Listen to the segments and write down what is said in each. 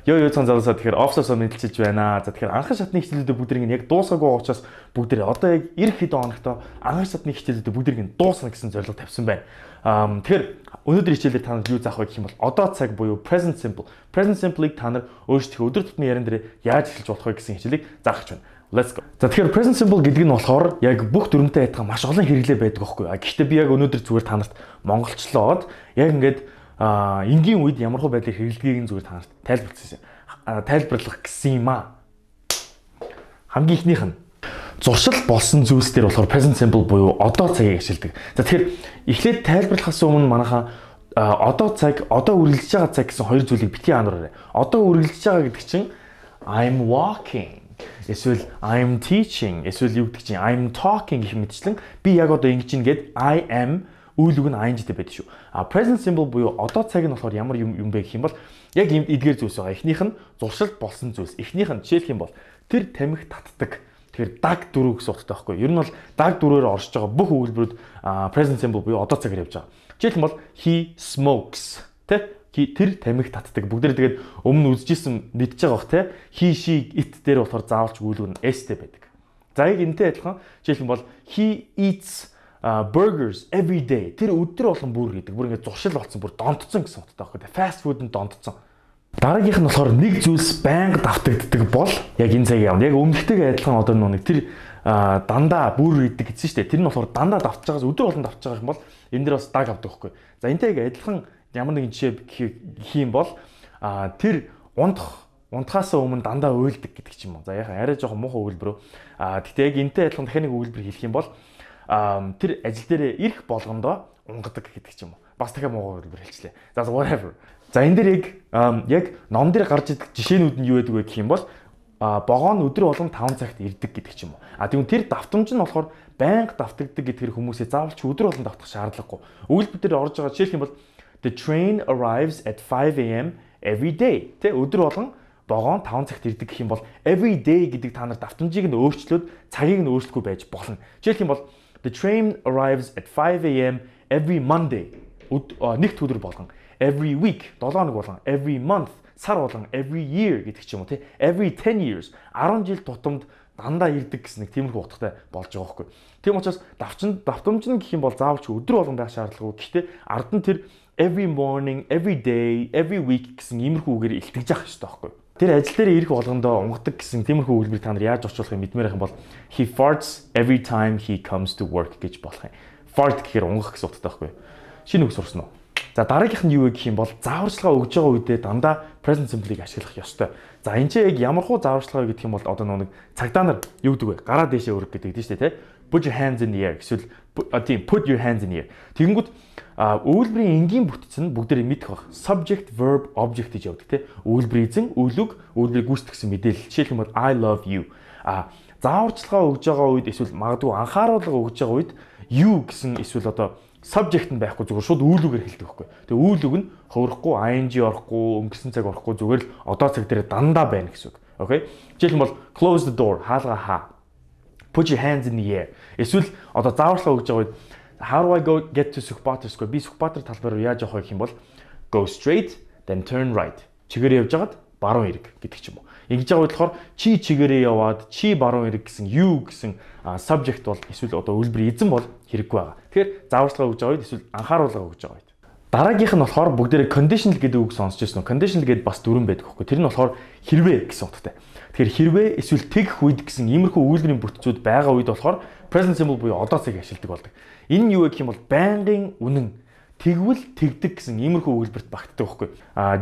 Ёо цан залуусаа тэгэхээр офсоосоо мэдлчиж байна. За тэгэхээр анхан шатны хичээлүүдээ бүгдийг яг дуусгаагүй учраас бүгдээ одоо яг эх хэд хоногтой анхан шатны хичээлүүдээ бүгдийг дуусгана гэсэн зорилго тавьсан байна. Тэгэхээр өнөөдөр хичээлээр та нар юу заах вэ гэх юм бол одоо цаг буюу present simple. Present simple-ыг та нар өөрсдөө өдөр тутмын яран дээр яаж эхэлж болох вэ гэсэн хичээлийг заах гэж байна. Let's go. За тэгэхээр present simple гэдэг нь болохоор яг бүх дүрмтэй адилхан маш олон хэрэглээ байдаг байхгүй юу. Гэхдээ би яг өнөөдөр зүгээр та нарт монголчлоод яг ингээд энгийн үед ямар хөө байдлыг хэрэглэгийг нь зүгээр та нарт тайлбарлах гэсэн юм аа. Хамгийн ихнийх нь зуршил болсон зүйлс дээр болохоор present simple буюу одоо цагийг ашигладаг. За тэгэхээр эхлээд тайлбарлахаас өмнө манайхаа одоо цаг, одоо үргэлжлэж байгаа цаг гэсэн хоёр зүйлийг битгий ануураарай. Одоо үргэлжлэж байгаа гэдэг чинь I'm walking, эсвэл I'm teaching, эсвэл юу гэдэг чинь I'm talking гэх мэтчлэн би яг одоо ингэж ин гээд I am үйл үг нь ing-тэй байдаг шүү. Present simple буюу одоо цаг нь болохоор ямар юм бэ гэх юм бол яг ийм эдгээр зүйлс байгаа. Эхнийх нь зуршил болсон зүйлс. Эхнийх нь жишээлх юм бол тэр тамхи татдаг. Тэгэхээр даг дөрөв гэсэн утгатай байхгүй. Ер нь бол даг дөрөөр оршиж байгаа бүх өгүүлбэрүүд present simple буюу одоо цагаар явж байгаа. Жишээлх юм бол he smokes тэ тэр тамхи татдаг. Бүгдээр тэгээд өмнө үзчихсэн мэдж байгаа бох тэ he she it дээр болохоор заавалч өгүүлбэр нь s-тэй байдаг. За яг энэтэй адилхан жишээлх юм бол he eats burgers every day. Тэр өдөр болгон бүр гэдэг. Бүр ингээд зуршил болсон, бүр донтцсон гэсэн утгатай байхгүй. Fast food нь донтцсон. Дараагийнх нь болохоор нэг зүйлс байнга давтагддаг бол яг энэ цагийн явна. Яг өмнөхтэйгээ адилхан одоо нэг тэр дандаа бүр гэдэг гэсэн шүү дээ. Тэр нь болохоор дандаа давтж байгаас өдөр болгон давтж байгаа юм бол энэ дэр бас даг авдаг байхгүй. За энэтэйг адилхан ямар нэгэн жишээ гэх юм бол тэр унтахаас өмнө дандаа уйлдаг гэдэг ч юм уу. За яхаа арай жоохон муухай өгүүлбэр. Гэхдээ яг энэтэй адилхан дахиад нэг өгүүлбэр хэлэх юм бол тэр ажил дээр ирэх болгондоо унгадаг гэдэг ч юм уу. Бас дахиад муугаар хэлчихлээ. За whatever. За энэ дээр яг ном дээр гарч ирдэг жишээнүүд нь юу байдаг вэ гэх юм бол богоо нь өдөр болгон 5 цагт ирдэг гэдэг ч юм уу. Тэгвэл тэр давтамж нь болохоор байнга давтагддаг гэдгээр хүмүүсээ заавалч өдөр болгон давтах шаардлагагүй. Өгүүлбэр дээр орж байгаа жишээлх юм бол the train arrives at 5 am every day. Тэ өдөр болгон богоо 5 цагт ирдэг гэх юм бол every day гэдэг та нар давтамжийг нь өөрчлөөд цагийг нь өөрчлөхгүй байж болно. Жишээлх юм бол the train arrives at 5 am every Monday. Нэгд өдөр болгон. Every week 7 хоног болгон. Every month сар болгон. Every year гэдэг ч юм уу тий. Every 10 years 10 жил тутамд дандаа ирдэг гэсэн нэг тиймэрхүү утгатай болж байгаа байхгүй. Тийм учраас давтамж нь гэх юм бол заавал ч өдөр болгон байх шаардлагагүй. Гэхдээ ард нь тэр every morning, every day, every week гэсэн иймэрхүү үгээр илтгэж явах хэрэгтэй байхгүй. Тэр ажил дээр ирэх болгондоо унгадаг гэсэн тиймэрхүү өгүүлбэрийг та нар яаж орчуулахыг мэдмээр байх юм бол he farts every time he comes to work гэж болох юм. Fart гэхээр унгах гэсэн утгатай байхгүй. Шинэ үг сурсан уу? За дараагийнх нь юу вэ гэх юм бол зааварчилгаа өгж байгаа үедээ дандаа present simple-ийг ашиглах ёстой. За энэ чинь яг ямар хуу зааварчилгаа гэдэг юм бол одоо нэг цагдаа нар юу гэдэг вэ? Гараа дээшээ өргөх гэдэг дээ шүү дээ, тэ? Put your hands in the air эсвэл тийм put your hands in the air. Тэгэнгүүт өгүүлбэрийн энгийн бүтц нь бүгдээрээ мэдэх баг. Subject, verb, object гэж явдаг, тэ? Өгүүлбэрийн эзэн, үйл үг, өгүүлбэрийг гүйцэтгэсэн мэдээлэл. Жишээлх юм бол I love you. Зааварчилгаа өгж байгаа үед эсвэл магадгүй анхааруулга өгж байгаа үед you гэсэн эсвэл одоо subject нь байхгүй зүгээр шууд үйл үгээр хэлдэг байхгүй. Тэгээ үйл үг нь хувирахгүй, ing орохгүй, өнгөрсөн цаг орохгүй зүгээр л одоо цаг дээр дандаа байна гэсэн үг. Окей? Жишээлх юм бол close the door, хаалгаа хаа. Put your hands in the air. Эсвэл одоо зааварчилгаа өгж байгаа үед how do I go get to Сүхбаатар Square? Би Сүхбаатар талбай руу яаж явах вэ гэх юм бол go straight then turn right. Чигээрээ явж хагаад баруун эрг гэдэг ч юм уу. Ингэж байгаа болохоор чи чигээрээ яваад чи баруун эрг гэсэн you гэсэн subject бол эсвэл одоо үлбэр эзэн бол хэрэггүй байгаа. Тэгэхээр зааварчилгаа өгж байгаа үед эсвэл анхааруулга өгж байгаа үед. Дараагийнх нь болохоор бүгдээрээ conditional гэдэг үг сонсч байсан уу? Conditional гэдэг бас дөрвөн байдаг хөөхгүй. Тэр нь болохоор хэрвээ гэсэн утгатай. Тэгэхээр хэрвээ эсвэл тэгэх үед гэсэн иймэрхүү өгүүлбэрийн бүтцүүд байгаа үед болохоор present simple буюу одоо цагийг ашигладаг болдог. Энэ нь юу гэх юм бол байнгын үнэн тэгвэл тэгдэг гэсэн иймэрхүү өгүүлбэрт багтдаг байхгүй.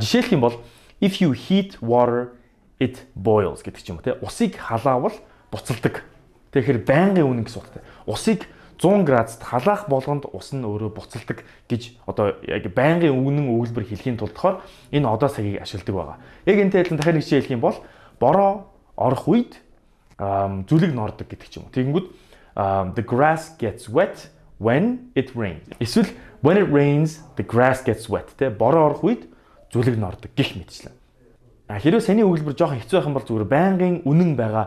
Жишээлх юм бол if you heat water it boils гэдэг ч юм уу те. Усыг халаавал буцалдаг. Тэгэхээр байнгын үнэн гэсэн утгатай. Усыг 100 градусд халаах болгонд ус нь өөрөө буцалдаг гэж одоо яг байнгын үнэн өгүүлбэр хэлхийн тулд болохоор энэ одоо цагийг ашигладаг байгаа. Яг энэтэй адилхан дахиад нэг жишээ хэлэх юм бол бороо орох үед зүлэг нордог гэдэг ч юм уу. Тэгэнгүүт the grass gets wet when it rains. Эсвэл when it rains the grass gets wet. Тэ бороо орох үед зүлэг нордог гэх мэтчлэн. Хэрвээ саний өгүүлбэр жоохон хэцүү байх юм бол зүгээр байнгын үнэн байгаа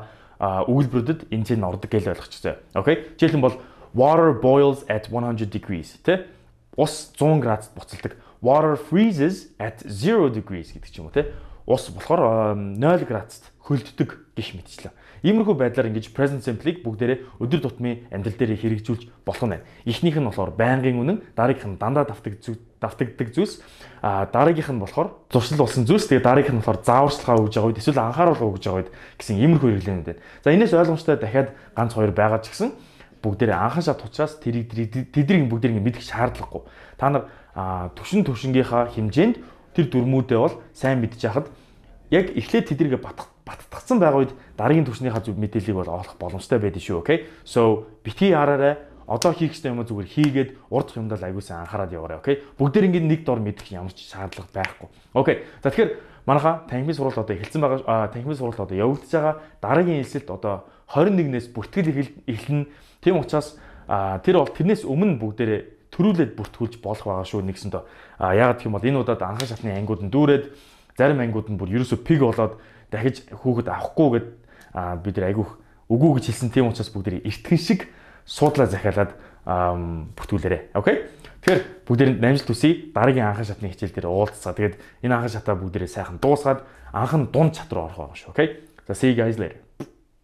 өгүүлбэрүүдэд энэ чинь ордог гэж ойлгочихжээ. Окей? Жишээлх юм бол water boils at 100 degrees. Тэ ус 100 градусд буцалдаг. Water freezes at 0 degrees гэдэг ч юм уу те. ус болохоор 0 градуст хөлддөг гэх мэтчлэн. Иймэрхүү байдлаар ингэж present simple-ийг бүгдээрээ өдөр тутмын амьдрал дээр хэрэгжүүлж болох нь байна. Эхнийх нь болохоор байнгын үнэн, дараагийнх нь дандаа давтагддаг зүйлс, дараагийнх нь болохоор зуршил болсон зүйлс, тэгээ дараагийнх нь болохоор зааварчилгаа өгж байгаа үед эсвэл анхааруулга өгж байгаа үед гэсэн иймэрхүү хэрэглэнүүд байна. За энэс ойлгомжтой дахиад ганц хоёр байгаа ч гэсэн бүгдээрээ анхан шат учраас тэднийг бүгдийг мэдэх шаардлагагүй. Та нар төвшингийнхаа хэмжээнд тэр дүрмүүдээ бол сайн мэдж яхад яг эхлээд тэднийг баттгцсан байгаа үед дараагийн төвшнийхаа зөв мэдээллийг бол олох боломжтой байдаг шүү. Окей. So битгий хараарай. Одоо хийх ёстой юм зүгээр хийгээд урд юмдаа аягуулсан анхаарал яваарай. Окей. Бүгдээр ингэ нэг дор мэдэх ямар ч шаардлага байхгүй. Окей. За тэгэхээр манайха танхимын сургалт одоо эхэлсэн байгаа. Танхимын сургалт одоо явагдаж байгаа. Дараагийн хэлсэлт одоо 21-ээс бүртгэл эхэлнэ. Тийм учраас тэр бол тэрнээс өмнө бүгдээрээ төрүүлээд бүртгүүлж болох байгаа шүү нэгсэндээ. Яагаад гэх юм бол энэ удаад анхан шатны ангиуд нь дүүрээд зарим ангиуд нь бүр ерөөсө пиг болоод дахиж хүүхэд авахгүй гэд бид нар айгүйх үгүй гэж хэлсэн. Тийм учраас бүгдээ эртгэн шиг суудлаа захиалаад бүртгүүлээрэй. Окей. Тэгэхээр бүгдээ намжилт төсөй дараагийн анхан шатны хичээл дээр уулзцаа. Тэгээд энэ анхан шатаа бүгдээ сайхан дуусгаад анхан дунд чат руу орох байгаа шүү. Окей. За see you guys later.